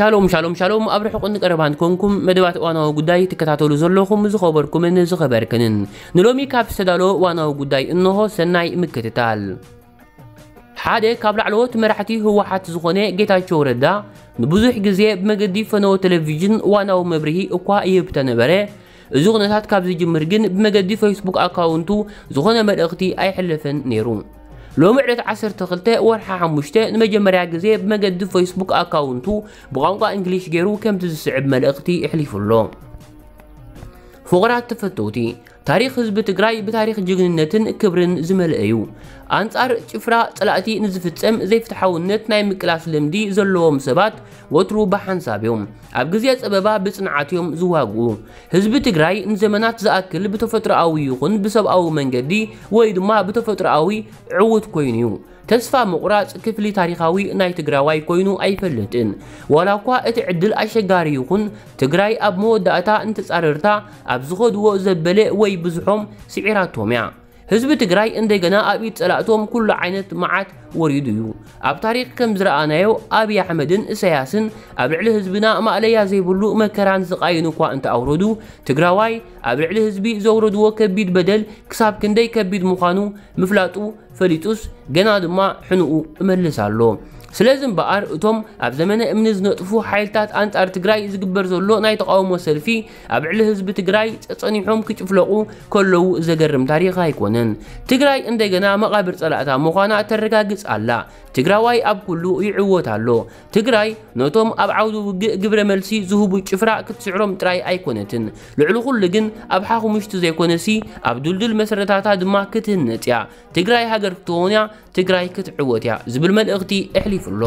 ሻሎም ሻሎም ሻሎም፣ ኣብ ርሑቕን ቀረባን ኮንኩም መደባት እዋናዊ ጉዳይ ትከታተሉ ዘለኹም ዝኸበርኩምን ዝኸበርክንን፣ ንሎሚ ካብ ዝተዳለወ እዋናዊ ጉዳይ እንሆ። ሰናይ ምክትታል። ሓደ ካብ ላዕለዎት መራሕቲ ህወሓት ዝኾነ ጌታቸው ረዳ ንብዙሕ ግዜ ብመገዲ ፈነወ ቴሌቪዥን እዋናዊ መብርሂ እኳ ይህብ ተነበረ፣ እዚ ኩነታት ካብ ዝጅምር ግን ብመገዲ ፌስቡክ ኣካውንቱ ዝኾነ መልእኽቲ ኣይሕለፈን ነይሩ። ሎሚ ዕለት ዓሰርተ ክልተ ወርሓ ሓሙሽተ ንመጀመርያ ግዜ ብመገዲ ፌስቡክ ኣካውንቱ ብቋንቋ እንግሊሽ ገይሩ ከምቲ ዝስዕብ መልእኽቲ ኣሕሊፉ ኣሎ። ፍቑራት ተፈተውቲ፣ ታሪኽ ህዝቢ ትግራይ ብታሪኽ ጅግንነትን ክብርን ዝመልአ እዩ። ኣንጻር ጭፍራ ጸላእቲ ንዝፍጸም ዘይፍትሓውነት ናይ ምቅላስ ልምዲ ዘለዎም ሰባት ወትሩ ብሓንሳብ እዮም። ኣብ ግዜ ጸበባ ብጽንዓት እዮም ዝዋግኡ። ህዝቢ ትግራይ ንዘመናት ዝኣክል ብተፈጥሮኣዊ ይኹን ብሰብኣዊ መንገዲ ወይ ድማ ብተፈጥሮኣዊ ዕዉት ኮይኑ እዩ። ተስፋ ምቑራጽ ክፍሊ ታሪኻዊ ናይ ትግራዋይ ኮይኑ ኣይፈልጥን። ዋላ እኳ እቲ ዕድል ኣሸጋሪ ይኹን፣ ትግራይ ኣብ መወዳእታ ንተጻረርታ ኣብ ዝኸድዎ ዘበለ ወይ ብዙሖም ስዒራቶም እያ። ህዝቢ ትግራይ እንደገና ኣብ ኢድ ጸላእቶም ኩሉ ዓይነት መዓት ወሪዱ እዩ። ኣብ ታሪኽ ከም ዝረኣናዮ ኣብይ ኣሕመድን እሰያስን ኣብ ልዕሊ ህዝብና ማእለያ ዘይብሉ መከራን ስቓይን እኳ እንተኣውረዱ፣ ትግራዋይ ኣብ ልዕሊ ህዝቢ ዘውረድዎ ከቢድ በደል ክሳብ ክንደይ ከቢድ ምዃኑ ምፍላጡ ፈሊጡስ ገና ድማ ሕንኡ እመልስ ኣሎ። ስለዚ እምበኣር እቶም ኣብ ዘመነ እምኒ ዝነጥፉ ሓይልታት ኣንጻር ትግራይ ዝግበር ዘሎ ናይ ተቓውሞ ሰልፊ ኣብ ልዕሊ ህዝቢ ትግራይ ጸጸኒሖም ክጭፍለቑ ከለዉ ዘገርም ታሪኽ ኣይኮነን። ትግራይ እንደገና መቓብር ጸላእታ ምዃና ተረጋግጽ ኣላ። ትግራዋይ ኣብ ኩሉ ይዕወት ኣሎ። ትግራይ ነቶም ኣብ ዓውዲ ውግእ ግብረ መልሲ ዝህቡ ጭፍራ ክትስዕሮም ጥራይ ኣይኮነትን። ልዕሊ ኩሉ ግን ኣብ ሓኹምሽቲ ዘይኮነሲ ኣብ ድልዱል መሰረታታ ድማ ክትህነጽ እያ። ትግራይ ሃገር ክትኸውን እያ፣ ትግራይ ክትዕወት እያ ዝብል መልእኽቲ ኣሕሊፉ ኣሎ።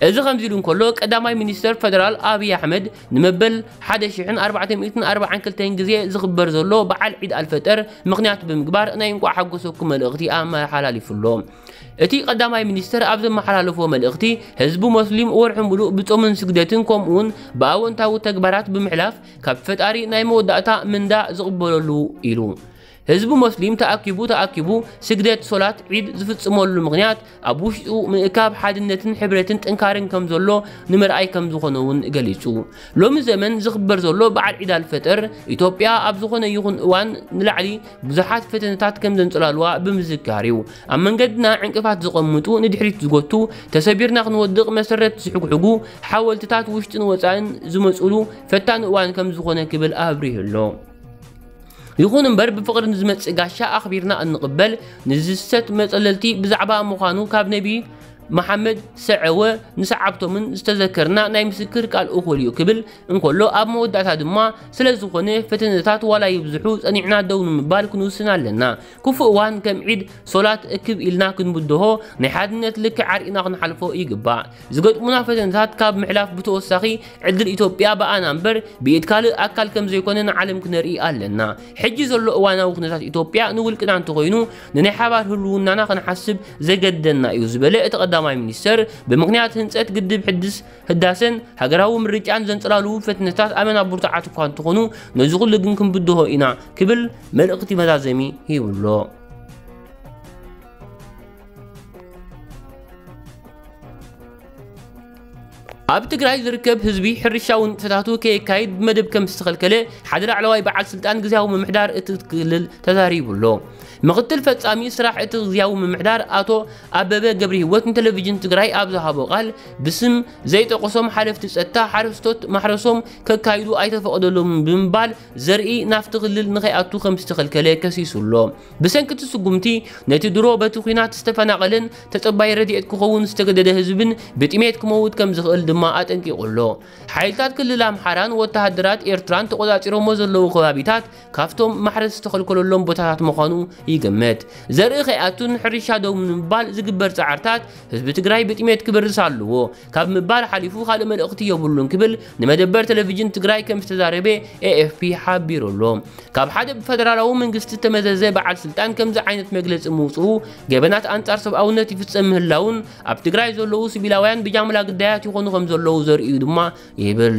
እዚ ከምዚ ኢሉ እንከሎ፣ ቀዳማይ ሚኒስተር ፈደራል ኣብይ ኣሕመድ ንመበል ሓደ ሽሕን ኣርባዕተ ሚእትን ኣርባዓን ክልተን ግዜ ዝኽበር ዘሎ በዓል ዒድ ኣልፈጠር ምኽንያት ብምግባር ናይ እንቋዕ ሓጎሰኩም መልእኽቲ ኣመሓላሊፉ ኣሎ። እቲ ቀዳማይ ሚኒስተር ኣብ ዘመሓላለፎ መልእኽቲ፣ ህዝቢ ሞስሊም ወርሒ ሙሉእ ብጾምን ስግደትን ከምኡውን ብኣወንታዊ ተግባራት ብምሕላፍ ካብ ፈጣሪ ናይ መወዳእታ ምንዳ ዝቕበለሉ ኢሉ። ህዝቢ ሞስሊም ተኣኪቡ ተኣኪቡ ስግደት ሶላት ዒድ ዝፍጽመሉ ምኽንያት ኣብ ውሽጡ ምእካብ ሓድነትን ሕብረትን ጥንካርን ከም ዘሎ ንምርኣይ ከም ዝኾነ እውን ገሊጹ። ሎሚ ዘመን ዝኽበር ዘሎ በዓል ዒድ ኣልፈጠር ኢትዮጵያ ኣብ ዝኾነ ይኹን እዋን ንላዕሊ ብዙሓት ፈተነታት ከም ዘንጸላልዋ ብምዝካር እዩ። ኣብ መንገድና ዕንቅፋት ዝቐምጡ፣ ንድሕሪት ዝጎቱ፣ ተሰቢርና ክንወድቕ መሰረት ዝሕግሕጉ ሓወልትታት ውሽጥን ወጻእን ዝመጹሉ ፈታኒ እዋን ከም ዝኾነ ክብል ኣብሪሁ ኣሎ። ይኹን እምበር ብፍቕሪ ንዝመጽእ ጋሻ ኣኽቢርና እንቕበል፣ ንዝሰት መጸለልቲ ብዛዕባ ምዃኑ ካብ ነቢ መሓመድ ሰዐወ ንሰዓብቶምን ዝተዘከርና ናይ ምስክር ቃል እኹል እዩ ክብል እንከሎ፣ ኣብ መወዳእታ ድማ ስለ ዝኾነ ፈተነታት ዋላ ይብዝሑ ጸኒዕና ደው ንምባል ክንውስን ኣለና። ክፉእ እዋን ከም ዒድ ሶላት እክብ ኢልና ክንብድሆ ናይ ሓድነት ልክዕ ኣርኢና ክንሓልፎ ይግባእ። ዝገጥሙና ፈተነታት ካብ ምሕላፍ ብተወሳኺ ዕድል ኢትዮጵያ ብኣና እምበር ብኢድ ካልእ ኣካል ከም ዘይኮነ ንዓለም ክነርኢ ኣለና። ሕጂ ዘሎ እዋናዊ ኩነታት ኢትዮጵያ ንውልቅና እንተኾይኑ ንናይ ሓባር ህልውናና ክንሓስብ ዘገድደና እዩ ዝበለ እቲ ቀዳማይ ሚኒስተር፣ ብምኽንያት ህንጸት ግድብ ሕድስ ህዳሰን ሃገራዊ ምርጫን ዘንጸላልዉ ፈተነታት ኣመና ብርቱዓት እኳ እንተኾኑ ነዚ ኩሉ ግን ክንብድሆ ኢና ክብል መልእኽቲ መዛዘሚ ሂቡ ኣሎ። ኣብ ትግራይ ዝርከብ ህዝቢ ሕርሻዊ ንጥፈታቱ ከየካይድ ብመደብ ከም ዝተኸልከለ ሓደ ላዕለዋይ በዓል ስልጣን ግዝያዊ ምምሕዳር እቲ ክልል ተዛሪቡ ኣሎ። ምኽትል ፈጻሚ ስራሕ እቲ ግዝያዊ ምምሕዳር ኣቶ ኣበበ ገብረ ህይወት ንቴሌቪዥን ትግራይ ኣብ ዝሃቦ ቃል፣ ብስም ዘይጠቀሶም ሓለፍቲ ጸጥታ ሓረስቶት ማሕረሶም ከካይዱ ኣይተፈቐደሎምን ብምባል ዘርኢ ናብቲ ክልል ንኸይኣቱ ከም ዝተኸልከለ ከሲሱ ኣሎ። ብሰንኪ እቲ ስጉምቲ ነቲ ድሮ በቲ ኲናት ዝተፈናቐለን ተጸባይ ረድኤት ክኸውን ዝተገደደ ህዝብን ብጥሜት ክመውት ከም ዝኽእል ድማ ኣጠንቂቑ ኣሎ። ሓይልታት ክልል ኣምሓራን ወተሃደራት ኤርትራን ተቖጻጺሮሞ ዘለዉ ከባቢታት ካብቶም ማሕረስ ዝተኸልከለሎም ቦታታት ምዃኑ ይግመት። ዘርኢ ከይኣቱን ሕርሻ ደው ንምባል ዝግበር ጻዕርታት ህዝቢ ትግራይ ብጥሜት ክበርስ ኣለዎ ካብ ምባል ሓሊፉ ካልእ መልእኽቲ የብሉን ክብል ንመደበር ቴሌቪዥን ትግራይ ከም ዝተዛረበ ኤ ኤፍ ፒ ሓቢሩ ኣሎ። ካብ ሓደ ብፈደራላዊ መንግስቲ ዝተመዘዘ በዓል ስልጣን ከምዚ ዓይነት መግለጺ ምውፅኡ ገበናት ኣንጻር ሰብኣውነት ይፍጸም ምህላውን ኣብ ትግራይ ዘለዉ ሲቪላውያን ብጃምላ ግዳያት ይኾኑ ከም ዘለዉ ዘርእዩ ድማ ይብል።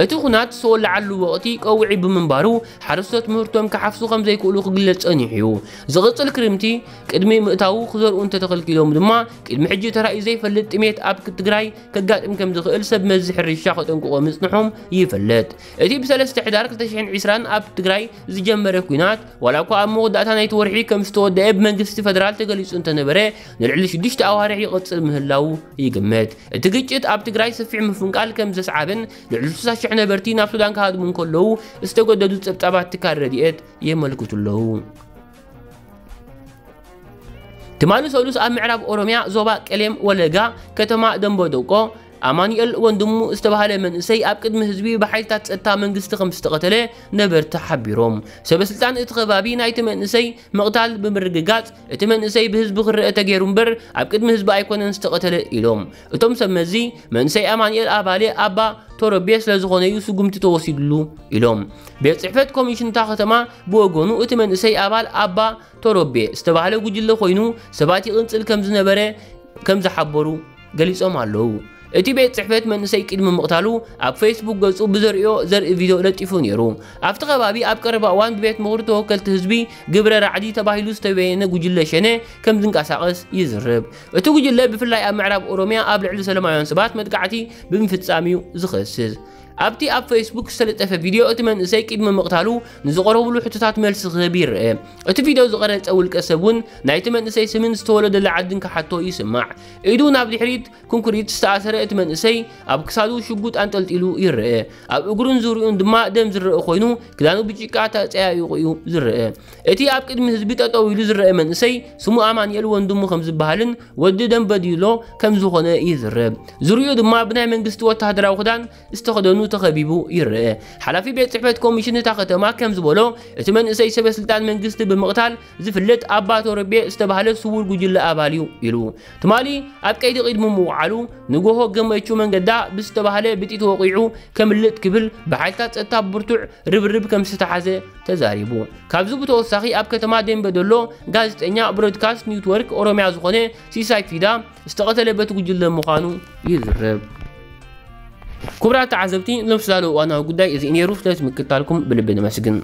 እቲ ኩናት ዝተወለዓሉ ወቕቲ ቀውዒ ብምንባሩ ሓረስቶት ምህርቶም ክሓፍሱ ከም ዘይክእሉ ክግለጽ ጸኒሑ እዩ። ዝቕጽል ክርምቲ ቅድሚ ምእታዉ ክዘርኡ እንተተኸልኪሎም ድማ ቅድሚ ሕጂ ተራእዩ ዘይፈልጥ ጥሜት ኣብ ትግራይ ከጋጥም ከም ዝኽእል ሰብ መዚ ሕርሻ ከጠንቅቖ ምጽንሖም ይፍለጥ። እቲ ብሰለስተ ሕዳር ክልተ ሽሕን ዕስራን ኣብ ትግራይ ዝጀመረ ኲናት ዋላ እኳ ኣብ መወዳእታ ናይቲ ወርሒ ከም ዝተወደአ ብመንግስቲ ፈደራል ተገሊጹ እንተነበረ ንልዕሊ ሽዱሽተ ኣዋርሕ ይቕጽል ምህላዉ ይግመት። እቲ ግጭት ኣብ ትግራይ ሰፊሕ ምፍንቃል ከም ዘስዓበን ልዕሊ ስሳ ሽሕ ነበርቲ ናብ ሱዳን ክሃድሙ እንከለዉ ዝተገደዱ ጸብጻባት ትካል ረድኤት የመልክቱ ኣለዉ። ትማሊ ሰሉስ ኣብ ምዕራብ ኦሮምያ ዞባ ቀሌም ወለጋ ከተማ ደንበዶቆ ኣማኑኤል ወንድሙ ዝተባህለ መንእሰይ ኣብ ቅድሚ ህዝቢ ብሓይልታት ጸጥታ መንግስቲ ከም ዝተቐተለ ነበርቲ ሓቢሮም። ሰበስልጣን እቲ ከባቢ ናይቲ መንእሰይ ምቕታል ብምርግጋጽ እቲ መንእሰይ ብህዝቢ ክረአ ተገይሩ እምበር ኣብ ቅድሚ ህዝቢ ኣይኮነን ዝተቐተለ ኢሎም። እቶም ሰብ መዚ መንእሰይ ኣማኑኤል ኣባሌ ኣባ ቶረቤ ስለ ዝኾነ እዩ ስጉምቲ ተወሲድሉ ኢሎም። ቤት ጽሕፈት ኮሚሽን እታ ከተማ ብወገኑ እቲ መንእሰይ ኣባል ኣባ ቶሮቤ ዝተባህለ ጉጅለ ኮይኑ ሰባት ይቕንጽል ከም ዝነበረ ከም ዝሓበሩ ገሊጾም ኣለዉ። እቲ ቤት ጽሕፈት መንእሰይ ቅድሚ ምቕታሉ ኣብ ፌስቡክ ገጹ ብዘርእዮ ዘርኢ ቪድዮ ለጢፉ ነይሩ። ኣብቲ ከባቢ ኣብ ቀረባ እዋን ብቤት ምኽሪ ተወከልቲ ህዝቢ ግብረ ራዕዲ ተባሂሉ ዝተበየነ ጉጅለ ሸኔ ከም ዝንቀሳቐስ ይዝረብ። እቲ ጉጅለ ብፍላይ ኣብ ምዕራብ ኦሮምያ ኣብ ልዕሊ ሰላማውያን ሰባት መጥቃዕቲ ብምፍጻም እዩ ዝኸስስ። ኣብቲ ኣብ ፌስቡክ ዝተለጠፈ ቪድዮ እቲ መንእሰይ ቅድሚ ምቕታሉ ንዝቐረብሉ ሕቶታት መልሲ ክህብ ይረአ። እቲ ቪድዮ ዝቐረጸ ውልቀ ሰብ እውን ናይቲ መንእሰይ ስምን ዝተወለደላ ዓድን ክሓቶ ይስማዕ። ኢዱ ናብ ድሕሪት ኮንክሪት ዝተኣሰረ እቲ መንእሰይ ኣብ ክሳዱ ሽጉጥ ኣንጠልጢሉ ይረአ። ኣብ እግሩን ዙርዩኡን ድማ ደም ዝረአ ኮይኑ ክዳኑ ብጭቃ ተጸያይቑ እዩ ዝረአ። እቲ ኣብ ቅድሚ ህዝቢ ጠጠው ኢሉ ዝረአ መንእሰይ ስሙ ኣማኑኤል ወንድሙ ከም ዝበሃልን ወዲ ደንበዲሎ ከም ዝኾነ ይዝረብ። ዙርዩኡ ድማ ብናይ መንግስቲ ወተሃደራዊ ክዳን ዝተኸደኑ ተኸቢቡ ይረአ። ሓላፊ ቤት ጽሕፈት ኮሚሽን እታ ከተማ ከም ዝበሎ እቲ መንእሰይ ሰበ ስልጣን መንግስቲ ብምቕታል ዝፍለጥ ኣባ ቶረቤ ዝተባህለ ስዉር ጉጅለ ኣባል እዩ ኢሉ። ትማሊ ኣብ ቀይዲ ቅድሚ ምውዓሉ ንጎሆ ገመቹ መንገዳ ብዝተባህለ ብጥይት ወቒዑ ከምልጥ ክብል ብሓይልታት ጸጥታ ብርቱዕ ርብርብ ከም ዝተሓዘ ተዛሪቡ። ካብዚ ብተወሳኺ ኣብ ከተማ ደንበ ዶሎ ጋዜጠኛ ብሮድካስት ኔትወርክ ኦሮምያ ዝኾነ ሲሳይ ፊዳ ዝተቐተለ በቲ ጉጅለ ምዃኑ ይዝረብ። ክቡራት ተዓዘብቲ፣ ሎምስ ላሉ እዋናዊ ጉዳይ እዚ ነይሩ። ስለቲ ምክታልኩም ብልቢ ነመስግን።